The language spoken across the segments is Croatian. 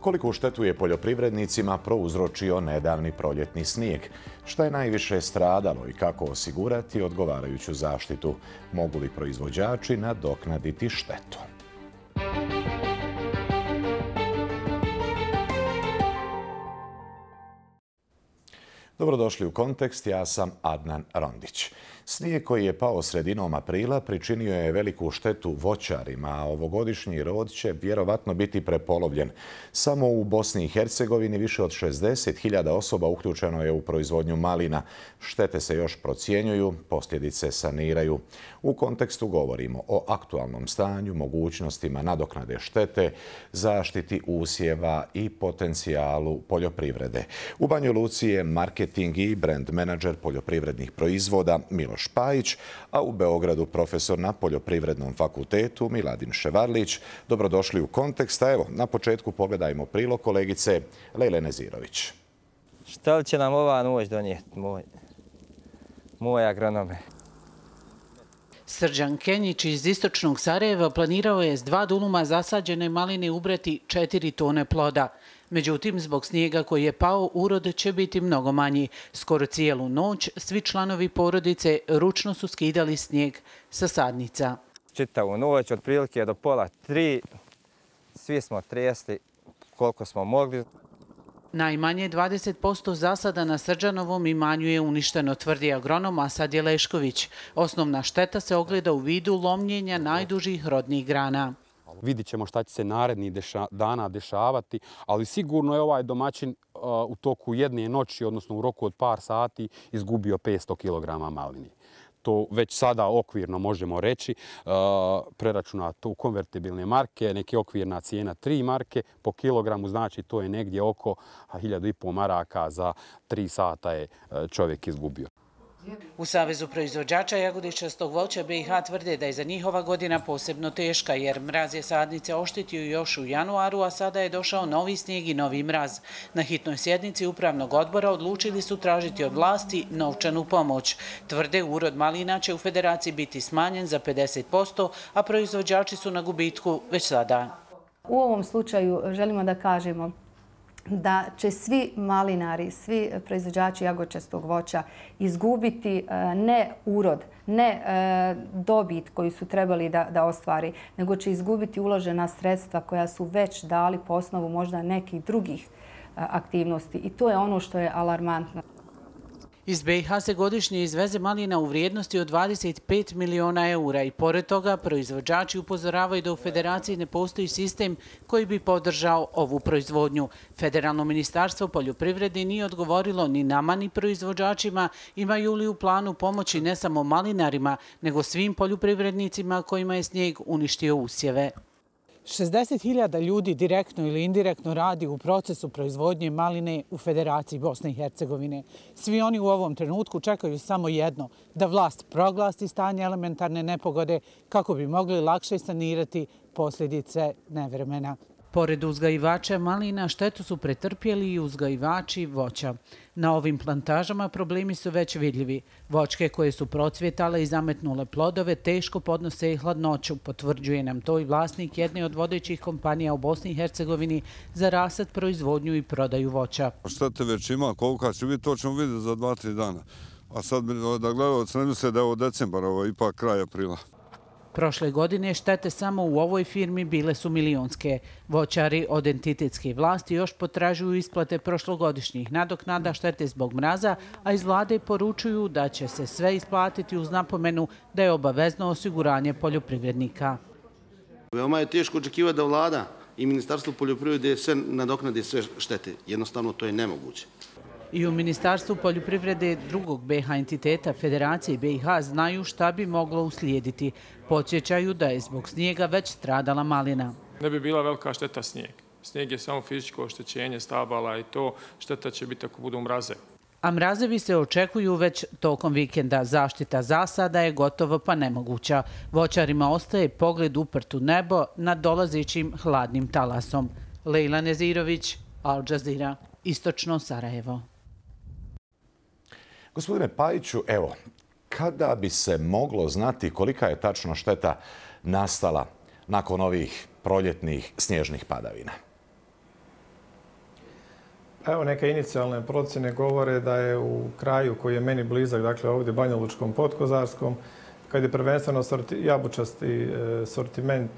Koliku štetu je poljoprivrednicima prouzročio nedavni proljetni snijeg? Šta je najviše stradalo i kako osigurati odgovarajuću zaštitu? Mogu li proizvođači nadoknaditi štetu? Dobrodošli u Kontekst, ja sam Adnan Rondić. Snijeg koji je pao sredinom aprila pričinio je veliku štetu voćarima, a ovogodišnji rod će vjerovatno biti prepolovljen. Samo u Bosni i Hercegovini više od 60.000 osoba uključeno je u proizvodnju malina. Štete se još procjenjuju, posljedice saniraju. U Kontekstu govorimo o aktualnom stanju, mogućnostima nadoknade štete, zaštiti usjeva i potencijalu poljoprivrede. U Banji Luci je marketing i brand menadžer poljoprivrednih proizvoda Miloš Pajić, a u Beogradu profesor na Poljoprivrednom fakultetu Miladin Ševarlić. Dobrodošli u Kontekst. A evo, na početku pogledajmo prilog kolegice Lejle Nezirović. Šta li će nam ova noć donijeti, moj agronome? Srđan Kenjić iz istočnog Sarajeva planirao je s 2 duluma zasađene maline ubrati 4 tone ploda. Međutim, zbog snijega koji je pao, urod će biti mnogo manji. Skoro cijelu noć svi članovi porodice ručno su skidali snijeg sa sadnica. Čitavu noć, otprilike do 2:30, svi smo tresli koliko smo mogli. Najmanje 20% zasada na Srđanovom imanju je uništeno, tvrdi agronom Asad Jelešković. Osnovna šteta se ogleda u vidu lomljenja najdužih rodnih grana. Vidit ćemo šta će se narednih dana dešavati, ali sigurno je ovaj domaćin u toku jedne noći, odnosno u roku od par sati, izgubio 500 kg maline. To već sada okvirno možemo reći, preračunato u konvertibilne marke, neke okvirna cijena 3 marke po kilogramu, znači to je negdje oko 1.500 maraka za 3 sata je čovjek izgubio. U Savezu proizvođača jagodičastog voća BiH tvrde da je za njihova godina posebno teška, jer mraz je sadnice oštetio još u januaru, a sada je došao novi snijeg i novi mraz. Na hitnoj sjednici upravnog odbora odlučili su tražiti od vlasti novčanu pomoć. Tvrde, urod malina će u federaciji biti smanjen za 50%, a proizvođači su na gubitku već sada. U ovom slučaju želimo da kažemo da će svi malinari, svi proizvođači jagodičastog voća izgubiti ne urod, ne dobit koju su trebali da ostvari, nego će izgubiti uložena sredstva koja su već dali po osnovu možda nekih drugih aktivnosti. I to je ono što je alarmantno. Iz BiH se godišnje izveze malina u vrijednosti od 25 miliona eura i pored toga proizvođači upozoravaju da u federaciji ne postoji sistem koji bi podržao ovu proizvodnju. Federalno ministarstvo poljoprivrede nije odgovorilo ni nama ni proizvođačima, imaju li u planu pomoći ne samo malinarima, nego svim poljoprivrednicima kojima je snijeg uništio usjeve. 60.000 ljudi direktno ili indirektno radi u procesu proizvodnje maline u Federaciji Bosne i Hercegovine. Svi oni u ovom trenutku čekaju samo jedno, da vlast proglasi stanje elementarne nepogode kako bi mogli lakše sanirati posljedice nevremena. Pored uzgajivača malina štetu su pretrpjeli i uzgajivači voća. Na ovim plantažama problemi su već vidljivi. Voćke koje su procvjetale i zametnule plodove teško podnose i hladnoću, potvrđuje nam to i vlasnik jedne od vodećih kompanija u Bosni i Hercegovini za rasad, proizvodnju i prodaju voća. Štete već ima, kolika će biti, to ćemo vidjeti za 2-3 dana. A sad da gledalci ne misle da je ovo decembar, ovo je ipak kraj aprila. Prošle godine štete samo u ovoj firmi bile su milionske. Voćari od entitetske vlasti još potražuju isplate prošlogodišnjih nadoknada štete zbog mraza, a iz vlade poručuju da će se sve isplatiti uz napomenu da je obavezno osiguranje poljoprivrednika. Veoma je teško očekivati da vlada i Ministarstvo poljoprivrede sve nadoknade sve štete. Jednostavno to je nemoguće. I u Ministarstvu poljoprivrede drugog BiH entiteta Federacije BiH znaju šta bi moglo uslijediti. Podsjećaju da je zbog snijega već stradala malina. Ne bi bila velika šteta snijeg. Snijeg je samo fizičko oštećenje stabala i to šteta će biti ako budu mraze. A mrazevi se očekuju već tokom vikenda. Zaštita zasada je gotovo pa nemoguća. Voćarima ostaje pogled uprt u nebo nad dolazećim hladnim talasom. Lejla Nezirović, Al Jazeera, Istočno Sarajevo. Gospodine Pajiću, evo, kada bi se moglo znati kolika je tačno šteta nastala nakon ovih proljetnih snježnih padavina? Evo, neke inicijalne procjene govore da je u kraju koji je meni blizak, dakle ovdje Banja Lučkom, Podkozarskom, kad je prvenstveno jabučasti sortiment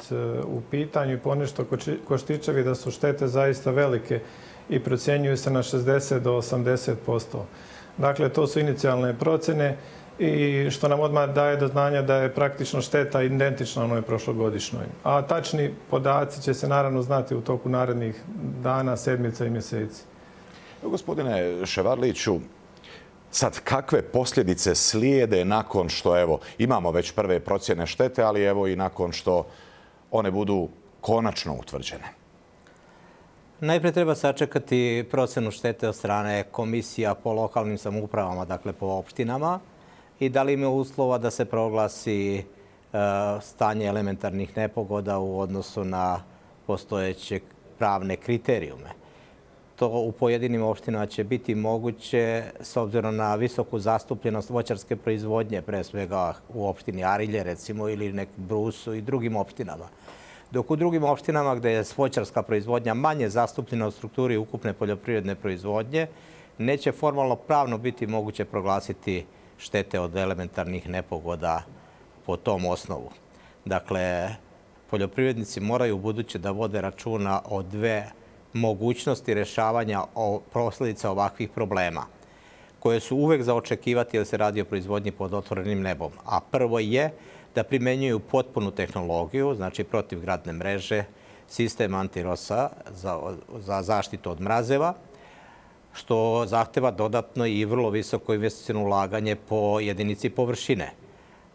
u pitanju i ponešto koštičevi, da su štete zaista velike i procjenjuju se na 60 do 80%. Dakle, to su inicijalne procjene i što nam odmah daje do znanja da je praktično šteta identična onoj prošlogodišnjoj. A tačni podaci će se naravno znati u toku narednih dana, sedmica i mjeseci. Gospodine Ševarliću, sad kakve posljedice slijede nakon što imamo već prve procjene štete, ali i nakon što one budu konačno utvrđene? Najprije treba sačekati procjenu štete od strane komisija po lokalnim samoupravama, dakle po opštinama, i da li ima uslova da se proglasi stanje elementarnih nepogoda u odnosu na postojeće pravne kriterijume. To u pojedinim opštinama će biti moguće s obzirom na visoku zastupljenost voćarske proizvodnje, pre svega u opštini Arilje, recimo, ili nek Brusu i drugim opštinama. Dok u drugim opštinama gdje je voćarska proizvodnja manje zastupljena u strukturi ukupne poljoprivredne proizvodnje, neće formalno pravno biti moguće proglasiti štete od elementarnih nepogoda po tom osnovu. Dakle, poljoprivrednici moraju ubuduće da vode računa o dve mogućnosti rješavanja posljedica ovakvih problema, koje su uvek za očekivati jer se radi o proizvodnji pod otvorenim nebom. A prvo je da primenjuju potpunu tehnologiju, znači protivgradne mreže, sistem antirosa za zaštitu od mrazeva, što zahteva dodatno i vrlo visoko investiciono ulaganje po jedinici površine.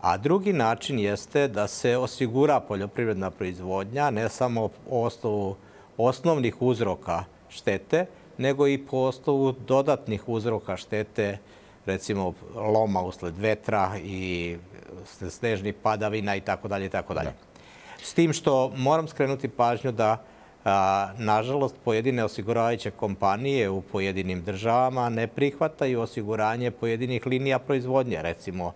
A drugi način jeste da se osigura poljoprivredna proizvodnja ne samo po osnovu osnovnih uzroka štete, nego i po osnovu dodatnih uzroka štete, recimo loma usled vetra i snežnih padavina itd. S tim što moram skrenuti pažnju da, nažalost, pojedine osiguravajuće kompanije u pojedinim državama ne prihvataju osiguranje pojedinih linija proizvodnje. Recimo,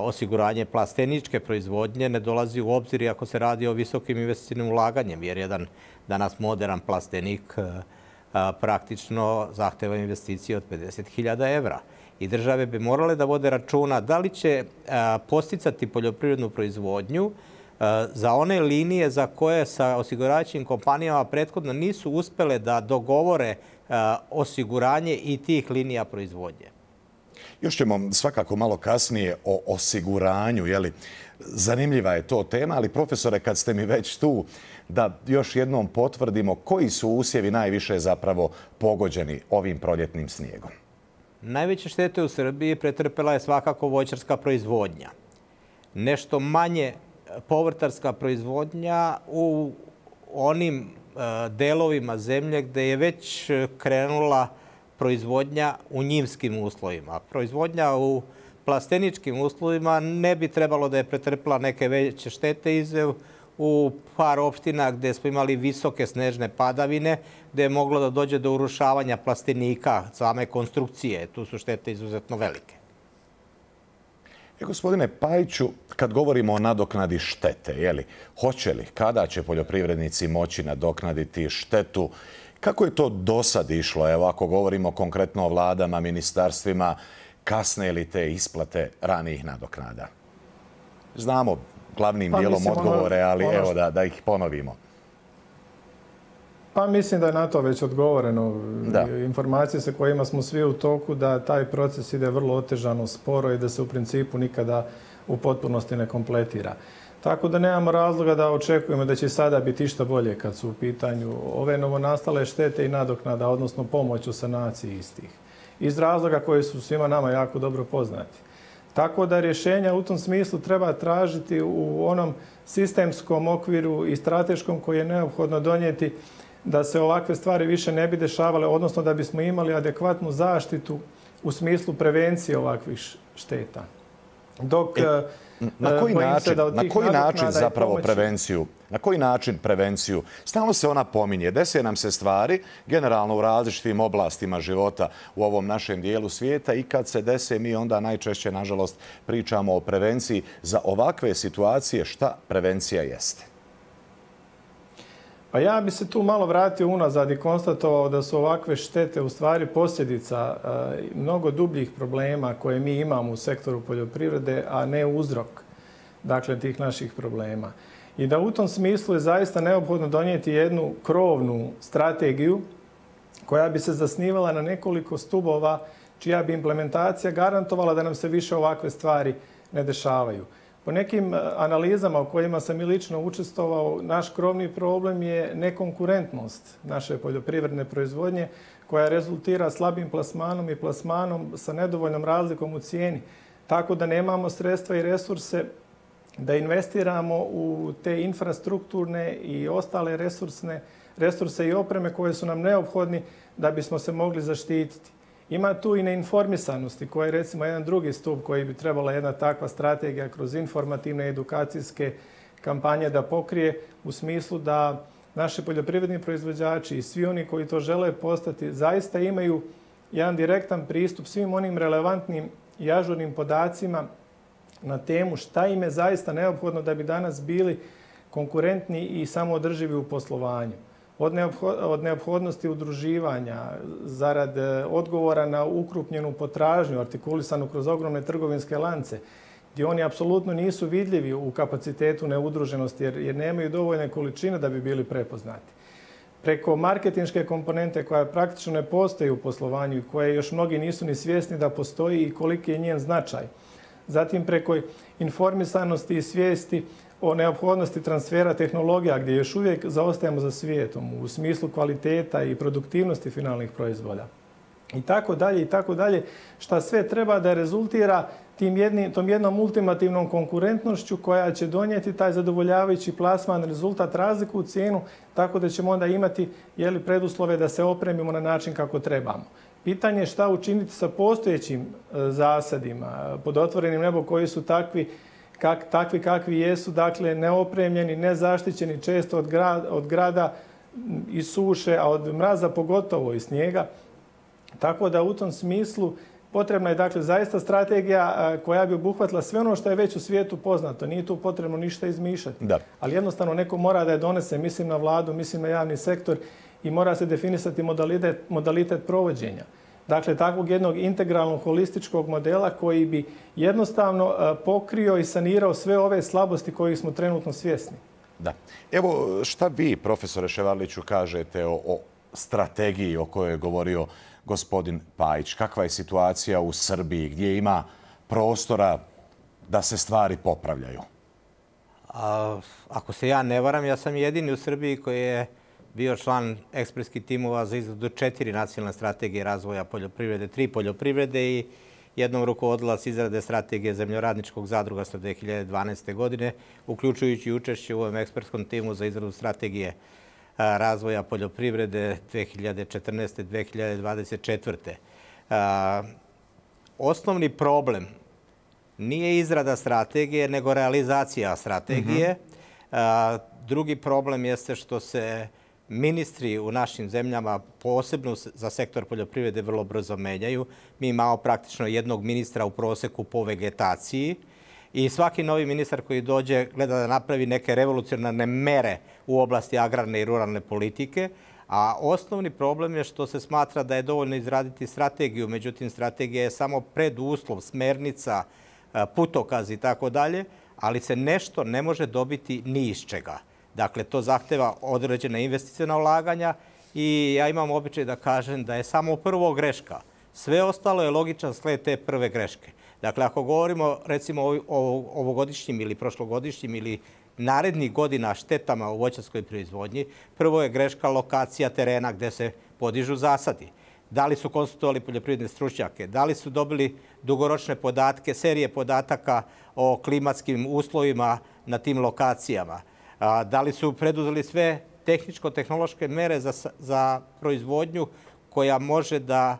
osiguranje plasteničke proizvodnje ne dolazi u obzir ako se radi o visokim investicijnim ulaganjem, jer jedan danas modern plastenik praktično zahteva investicije od 50.000 evra. I države bi morale da vode računa da li će posticati poljoprivrednu proizvodnju za one linije za koje sa osiguravajućim kompanijama prethodno nisu uspele da dogovore osiguranje i tih linija proizvodnje. Još ćemo svakako malo kasnije o osiguranju. Zanimljiva je to tema, ali profesore, kad ste mi već tu, da još jednom potvrdimo koji su usjevi najviše zapravo pogođeni ovim proljetnim snijegom. Najveće štete u Srbiji pretrpela je svakako voćarska proizvodnja. Nešto manje povrtarska proizvodnja u onim delovima zemlje gdje je već krenula proizvodnja u njivskim uslovima. Proizvodnja u plasteničkim uslovima ne bi trebalo da je pretrpela neke veće štete izuzev u par opština gdje smo imali visoke snežne padavine, gdje je moglo da dođe do urušavanja plastenika, same konstrukcije. Tu su štete izuzetno velike. Gospodine Pajiću, kad govorimo o nadoknadi štete, hoće li, kada će poljoprivrednici moći nadoknaditi štetu? Kako je to do sad išlo? Evo, ako govorimo konkretno o vladama, ministarstvima, kasne li te isplate ranijih nadoknada? Znamo glavnim dijelom odgovore, ali evo da ih ponovimo. Pa mislim da je na to već odgovoreno. Informacije sa kojima smo svi u toku da taj proces ide vrlo otežano, sporo i da se u principu nikada u potpunosti ne kompletira. Tako da nemamo razloga da očekujemo da će sada biti išta bolje kad su u pitanju ove novonastale štete i nadoknada, odnosno pomoć u sanaciji istih. Iz razloga koji su svima nama jako dobro poznati. Tako da rješenja u tom smislu treba tražiti u onom sistemskom okviru i strateškom koji je neophodno donijeti da se ovakve stvari više ne bi dešavale, odnosno da bismo imali adekvatnu zaštitu u smislu prevencije ovakvih šteta. Dok na koji način prevenciju? Stalno se ona pominje. Dese nam se stvari, generalno u različitim oblastima života u ovom našem dijelu svijeta, i kad se dese mi onda najčešće, nažalost, pričamo o prevenciji. Za ovakve situacije šta prevencija jeste? Pa ja bi se tu malo vratio unazad i konstatovao da su ovakve štete u stvari posljedica mnogo dubljih problema koje mi imamo u sektoru poljoprivrede, a ne uzrok tih naših problema. I da u tom smislu je zaista neophodno donijeti jednu krovnu strategiju koja bi se zasnivala na nekoliko stubova čija bi implementacija garantovala da nam se više ovakve stvari ne dešavaju. Po nekim analizama u kojima sam i lično učestvovao, naš krovni problem je nekonkurentnost naše poljoprivredne proizvodnje koja rezultira slabim plasmanom i plasmanom sa nedovoljnom razlikom u cijeni. Tako da nemamo sredstva i resurse da investiramo u te infrastrukturne i ostale resurse i opreme koje su nam neophodni da bismo se mogli zaštititi. Ima tu i neinformisanosti koja je recimo jedan drugi stup koji bi trebala jedna takva strategija kroz informativne edukacijske kampanje da pokrije u smislu da naši poljoprivredni proizvođači i svi oni koji to žele postati zaista imaju jedan direktan pristup svim onim relevantnim i ažurnim podacima na temu šta im je zaista neophodno da bi danas bili konkurentni i samoodrživi u poslovanju. Od neophodnosti udruživanja, zarad odgovora na ukrupnjenu potražnju, artikulisanu kroz ogromne trgovinske lance, gdje oni apsolutno nisu vidljivi u kapacitetu neudruženosti jer nemaju dovoljne količine da bi bili prepoznati. Preko marketinške komponente koja praktično ne postoji u poslovanju i koje još mnogi nisu ni svjesni da postoji i koliki je njen značaj. Zatim preko informisanosti i svijesti o neophodnosti transfera tehnologija gdje još uvijek zaostajemo za svijetom u smislu kvaliteta i produktivnosti finalnih proizvoda. I tako dalje, šta sve treba da rezultira tom jednom ultimativnom konkurentnošću koja će donijeti taj zadovoljavajući plasman, rezultat, razliku u cijenu, tako da ćemo onda imati preduslove da se opremimo na način kako trebamo. Pitanje je šta učiniti sa postojećim zasadima pod otvorenim nebom koji su takvi kakvi jesu, dakle neopremljeni, nezaštićeni često od grada i suše, a od mraza pogotovo i snijega. Tako da u tom smislu potrebna je dakle zaista strategija koja bi obuhvatila sve ono što je već u svijetu poznato. Nije tu potrebno ništa izmišljati. Ali jednostavno neko mora da je donese, mislim na vladu, mislim na javni sektor i mora se definisati modalitet provođenja. Dakle, takvog jednog integralnog, holističkog modela koji bi jednostavno pokrio i sanirao sve ove slabosti kojih smo trenutno svjesni. Da. Evo, šta vi, profesore Ševarliću, kažete o strategiji o kojoj je govorio gospodin Pajić? Kakva je situacija u Srbiji? Gdje ima prostora da se stvari popravljaju? Ako se ja ne varam, ja sam jedini u Srbiji koji je bio član ekspertskih timova za izradu 4 nacionalne strategije razvoja poljoprivrede, 3 poljoprivrede i jednom rukovodilac izrade strategije zemljoradničkog zadrugarstva 2012. godine, uključujući učešće u ovom ekspertskom timu za izradu strategije razvoja poljoprivrede 2014-2024. Osnovni problem nije izrada strategije, nego realizacija strategije. Drugi problem jeste što se ministri u našim zemljama, posebno za sektor poljoprivrede, vrlo brzo menjaju. Mi imamo praktično jednog ministra u proseku po vegetaciji i svaki novi ministar koji dođe gleda da napravi neke revolucionarne mere u oblasti agrarne i ruralne politike, a osnovni problem je što se smatra da je dovoljno izraditi strategiju, međutim strategija je samo preduslov, smernica, putokaz i tako dalje, ali se nešto ne može dobiti ni iz čega. Dakle, to zahteva određena investicijna ulaganja i ja imam običaj da kažem da je samo prvo greška. Sve ostalo je logičan sled te prve greške. Dakle, ako govorimo recimo o ovogodišnjim ili prošlogodišnjim ili narednih godina štetama u voćarskoj proizvodnji, prvo je greška lokacija terena gde se podižu zasadi. Da li su konsultovali poljoprivredne stručnjake, da li su dobili dugoročne podatke, serije podataka o klimatskim uslovima na tim lokacijama, da li su preduzeli sve tehničko-tehnološke mere za proizvodnju koja može da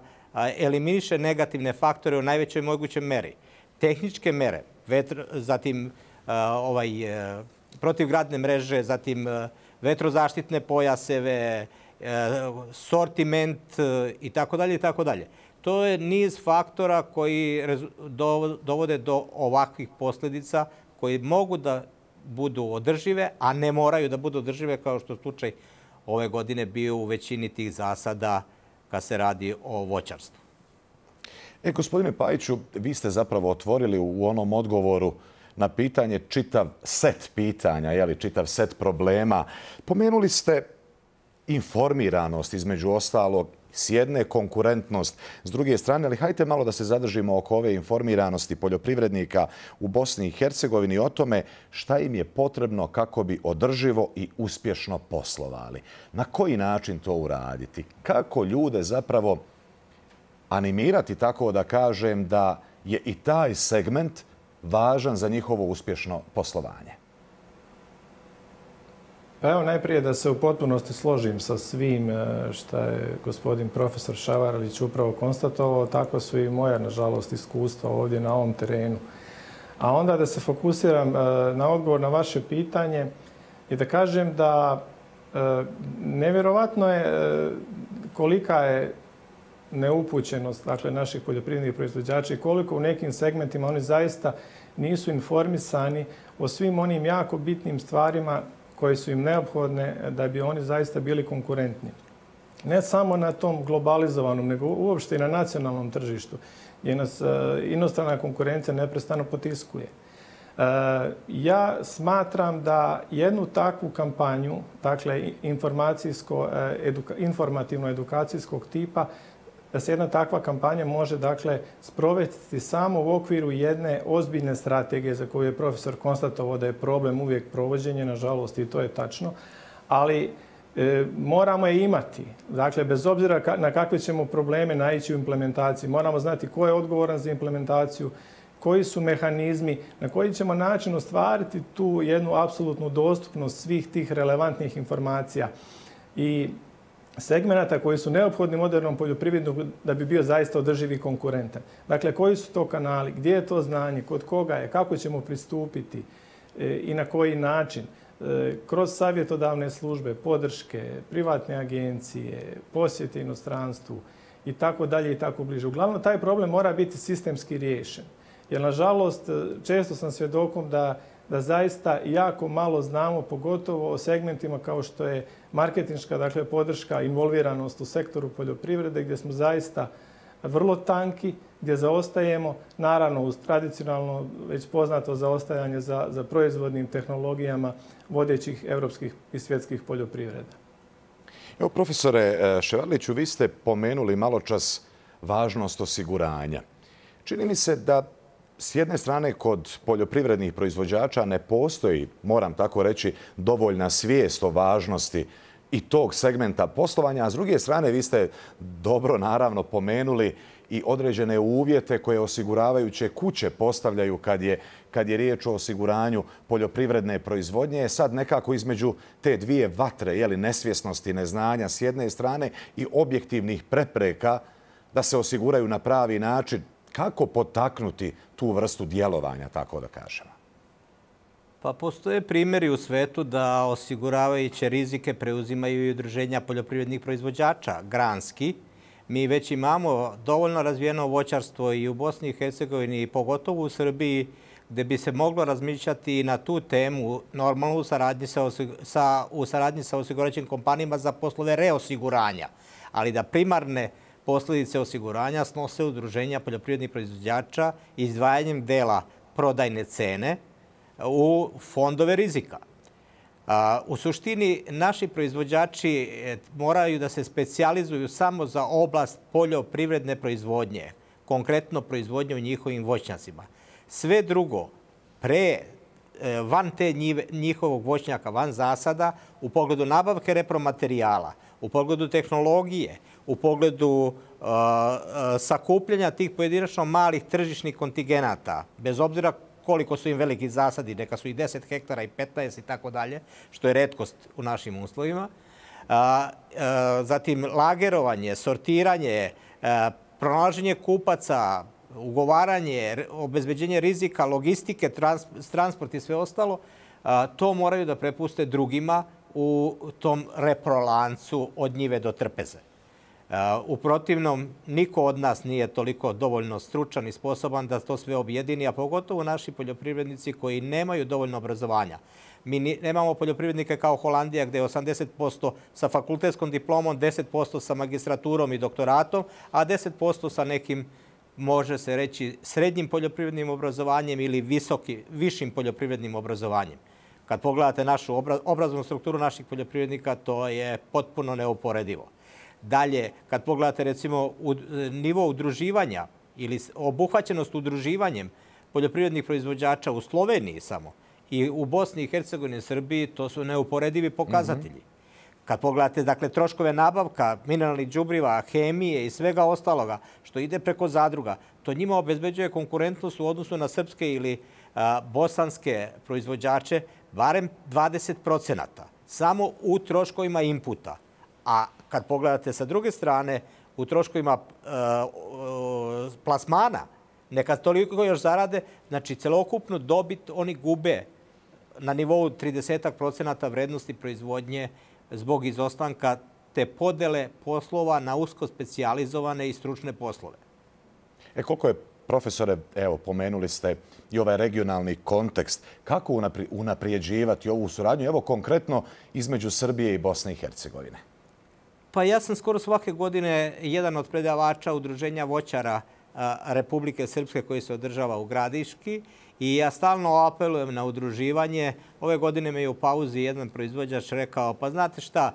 eliminiše negativne faktore u najvećoj mogućoj meri. Tehničke mere, zatim protivgradne mreže, zatim vetrozaštitne pojaseve, sortiment i tako dalje i tako dalje. To je niz faktora koji dovode do ovakvih posljedica koji mogu da budu održive, a ne moraju da budu održive kao što je slučaj ove godine bio u većini tih zasada kad se radi o voćarstvu. Gospodine Pajiću, vi ste zapravo otvorili u onom odgovoru na pitanje čitav set pitanja, čitav set problema. Pomenuli ste informiranost, između ostalog, s jedne konkurentnost, s druge strane, ali hajte malo da se zadržimo oko ove informiranosti poljoprivrednika u Bosni i Hercegovini o tome šta im je potrebno kako bi održivo i uspješno poslovali. Na koji način to uraditi? Kako ljude zapravo animirati, tako da kažem, da je i taj segment važan za njihovo uspješno poslovanje? Pa evo najprije da se u potpunosti složim sa svim što je gospodin profesor Šavarlić upravo konstatovao, tako su i moja, nažalost, iskustva ovdje na ovom terenu. A onda da se fokusiram na odgovor na vaše pitanje i da kažem da nevjerovatno je kolika je neupućenost, dakle, naših poljoprivrednih proizvođača i koliko u nekim segmentima oni zaista nisu informisani o svim onim jako bitnim stvarima koje su im neophodne da bi oni zaista bili konkurentni. Ne samo na tom globalizovanom, nego uopšte i na nacionalnom tržištu, gdje nas inostrana konkurencija neprestano potiskuje. Ja smatram da jednu takvu kampanju, dakle informativno-edukacijskog tipa, da se jedna takva kampanja može, dakle, sprovesti samo u okviru jedne ozbiljne strategije za koju je profesor konstatovao da je problem uvijek provođenje, nažalost, i to je tačno, ali moramo je imati. Dakle, bez obzira na kakve ćemo probleme naići u implementaciji, moramo znati ko je odgovoran za implementaciju, koji su mehanizmi, na koji ćemo način ostvariti tu jednu apsolutnu dostupnost svih tih relevantnih informacija i segmenata koji su neophodni modernom poljoprivrednom da bi bio zaista održiv i konkurentan. Dakle, koji su to kanali, gdje je to znanje, kod koga je, kako ćemo pristupiti i na koji način. Kroz savjetodavne službe, podrške, privatne agencije, posjete inostranstvu i tako dalje i tako bliže. Uglavnom, taj problem mora biti sistemski riješen. Jer, nažalost, često sam svjedokom da zaista jako malo znamo, pogotovo o segmentima kao što je marketinška, dakle, podrška, involviranost u sektoru poljoprivrede, gdje smo zaista vrlo tanki, gdje zaostajemo, naravno uz tradicionalno već poznato zaostajanje za proizvodnim tehnologijama vodećih evropskih i svjetskih poljoprivreda. Evo, profesore Ševarliću, vi ste pomenuli maločas važnost osiguranja. Čini mi se da s jedne strane kod poljoprivrednih proizvođača ne postoji, moram tako reći, dovoljna svijest o važnosti i tog segmenta poslovanja, a s druge strane vi ste dobro naravno pomenuli i određene uvjete koje osiguravajuće kuće postavljaju kad je riječ o osiguranju poljoprivredne proizvodnje. Sad nekako između te dvije vatre, nesvjesnosti, neznanja s jedne strane i objektivnih prepreka da se osiguraju na pravi način, kako potaknuti tu vrstu djelovanja, tako da kažemo? Pa postoje primjeri u svetu da osiguravajuće rizike preuzimaju i udruženja poljoprivrednih proizvođača, granski. Mi već imamo dovoljno razvijeno voćarstvo i u Bosni i Hercegovini, pogotovo u Srbiji, gdje bi se moglo razmišljati na tu temu, normalno u saradnji sa osigurajućim kompanijama za poslove reosiguranja, ali da primarne posljedice osiguranja snose udruženja poljoprivrednih proizvođača izdvajanjem dela prodajne cene u fondove rizika. U suštini, naši proizvođači moraju da se specijalizuju samo za oblast poljoprivredne proizvodnje, konkretno proizvodnje u njihovim voćnjacima. Sve drugo, van te njihovog voćnjaka, van zasada, u pogledu nabavke repromaterijala, u pogledu tehnologije, u pogledu sakupljanja tih pojedinačno malih tržišnih kontigenata, bez obzira koliko su im veliki zasadi, neka su i 10 hektara i 15 i tako dalje, što je retkost u našim uslovima. Zatim lagerovanje, sortiranje, pronalaženje kupaca, ugovaranje, obezbeđenje rizika, logistike, transport i sve ostalo, to moraju da prepuste drugima u tom reprolancu od njive do trpeze. U protivnom, niko od nas nije toliko dovoljno stručan i sposoban da to sve objedini, a pogotovo naši poljoprivrednici koji nemaju dovoljno obrazovanja. Mi nemamo poljoprivrednike kao Holandija gdje je 80% sa fakultetskom diplomom, 10% sa magistraturom i doktoratom, a 10% sa nekim, može se reći, srednjim poljoprivrednim obrazovanjem ili višim poljoprivrednim obrazovanjem. Kad pogledate našu obrazovnu strukturu naših poljoprivrednika, to je potpuno neuporedivo. Dalje, kad pogledate recimo nivo udruživanja ili obuhvaćenost udruživanjem poljoprivrednih proizvođača u Sloveniji samo i u Bosni i Hercegovini i Srbiji, to su neuporedivi pokazatelji. Kad pogledate, dakle, troškove nabavka, mineralnih đubriva, hemije i svega ostaloga što ide preko zadruga, to njima obezbeđuje konkurentnost u odnosu na srpske ili bosanske proizvođače barem 20%, samo u troškovima inputa. A kad pogledate sa druge strane, u troškovima plasmana, neka toliko još zarade, znači celokupnu dobit oni gube na nivou 30% vrednosti proizvodnje zbog izostanka te podele poslova na usko specijalizovane i stručne poslove. Koliko je, profesore, evo, pomenuli ste i ovaj regionalni kontekst, kako unaprijeđivati ovu suradnju, evo konkretno između Srbije i Bosne i Hercegovine? Pa ja sam skoro svake godine jedan od predavača Udruženja voćara Republike Srpske koji se održava u Gradiški i ja stalno apelujem na udruživanje. Ove godine me je u pauzi jedan proizvođač rekao, pa znate šta,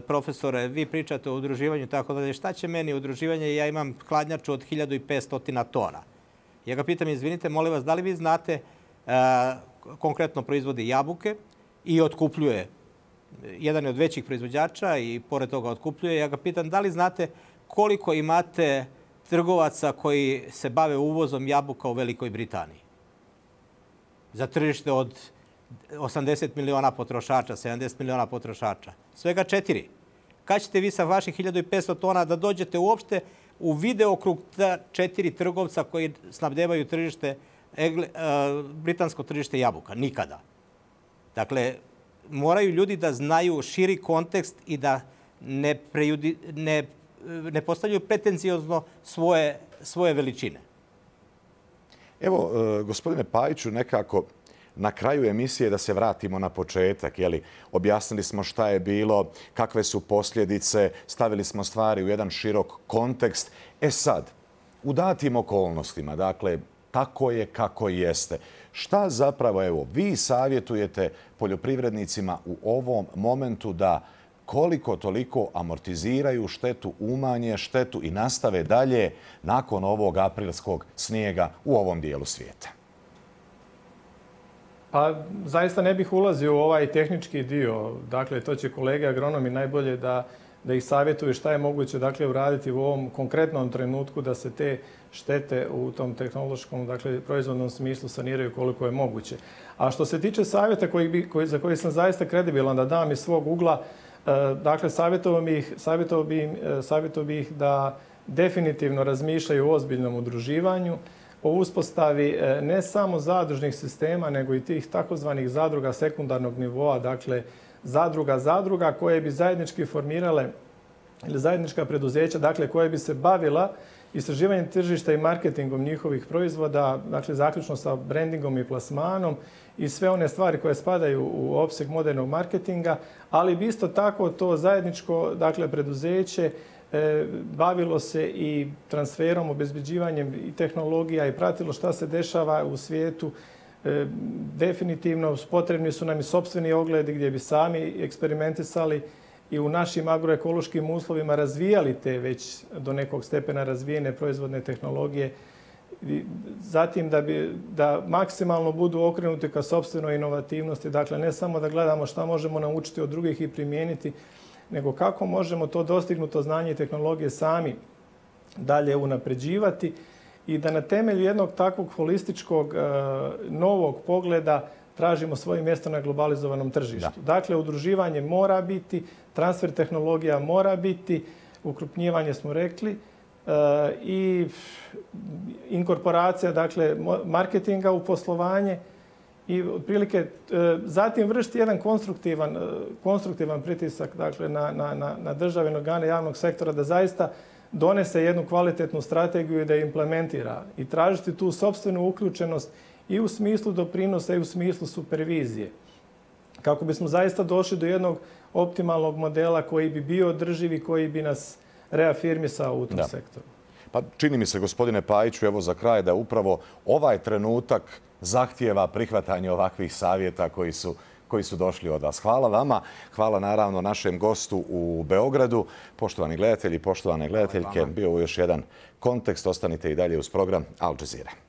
profesore, vi pričate o udruživanju, tako da šta će meni udruživanje, ja imam hladnjaču od 1500 tona. Ja ga pitam, izvinite, molim vas, da li vi znate, konkretno proizvodi jabuke i otkupljuje, jedan je od većih proizvođača i pored toga otkupljuje, ja ga pitam, da li znate koliko imate trgovaca koji se bave uvozom jabuka u Velikoj Britaniji? Za tržište od 80 miliona potrošača, 70 miliona potrošača. Svega 4. Kad ćete vi sa vaših 1500 tona da dođete uopšte u videokrug 4 trgovca koji snabdevaju tržište, britansko tržište jabuka? Nikada. Dakle, moraju ljudi da znaju širi kontekst i da ne postavljaju pretencijozno svoje veličine. Evo, gospodine Pajiću, nekako na kraju emisije da se vratimo na početak. Objasnili smo šta je bilo, kakve su posljedice, stavili smo stvari u jedan širok kontekst. Sad, u datim okolnostima, dakle, tako je kako jeste. Šta zapravo, evo, vi savjetujete poljoprivrednicima u ovom momentu da koliko toliko amortiziraju štetu, umanje štetu i nastave dalje nakon ovog aprilskog snijega u ovom dijelu svijeta? Pa zaista ne bih ulazio u ovaj tehnički dio. Dakle, to će kolege agronomi najbolje da ih savjetuju šta je moguće uraditi u ovom konkretnom trenutku da se te štete u tom tehnološkom, proizvodnom smislu saniraju koliko je moguće. A što se tiče savjeta za koji sam zaista kredibilan da dam iz svog ugla, dakle, savjetovao bih ih da definitivno razmišljaju o ozbiljnom udruživanju, o uspostavi ne samo zadružnih sistema, nego i tih takozvanih zadruga sekundarnog nivoa, dakle, zadruga koje bi zajednički formirale ili zajednička preduzeća, dakle, koje bi se bavila istraživanjem tržišta i marketingom njihovih proizvoda, dakle, zaključno sa brandingom i plasmanom i sve one stvari koje spadaju u opseg modernog marketinga, ali bi isto tako to zajedničko, dakle, preduzeće bavilo se i transferom, obezbeđivanjem i tehnologija i pratilo šta se dešava u svijetu. Definitivno potrebni su nam i sopstveni ogledi gdje bi sami eksperimentisali i u našim agroekološkim uslovima razvijali te već do nekog stepena razvijene proizvodne tehnologije. Zatim da maksimalno budu okrenuti ka sopstvenoj inovativnosti. Dakle, ne samo da gledamo šta možemo naučiti od drugih i primijeniti, nego kako možemo to dostignuto znanje i tehnologije sami dalje unapređivati i da na temelju jednog takvog holističkog novog pogleda tražimo svoje mjesto na globalizovanom tržištu. Dakle, udruživanje mora biti, transfer tehnologija mora biti, ukrupnjivanje smo rekli i inkorporacija, dakle, marketinga u poslovanje i otprilike zatim vršiti jedan konstruktivan pritisak, dakle, na države i organe javnog sektora da zaista donese jednu kvalitetnu strategiju i da je implementira i tražiti tu sopstvenu uključenost i u smislu doprinosa i u smislu supervizije. kako bismo zaista došli do jednog optimalnog modela koji bi bio održiv i koji bi nas reafirmisao u tom sektoru. Pa čini mi se, gospodine Pajiću, evo za kraj, da upravo ovaj trenutak zahtijeva prihvatanje ovakvih savjeta koji su došli od vas. Hvala vama, hvala naravno našem gostu u Beogradu. Poštovani gledatelji, poštovane gledateljke, bio je još jedan kontekst. Ostanite i dalje uz program Al Jazeera.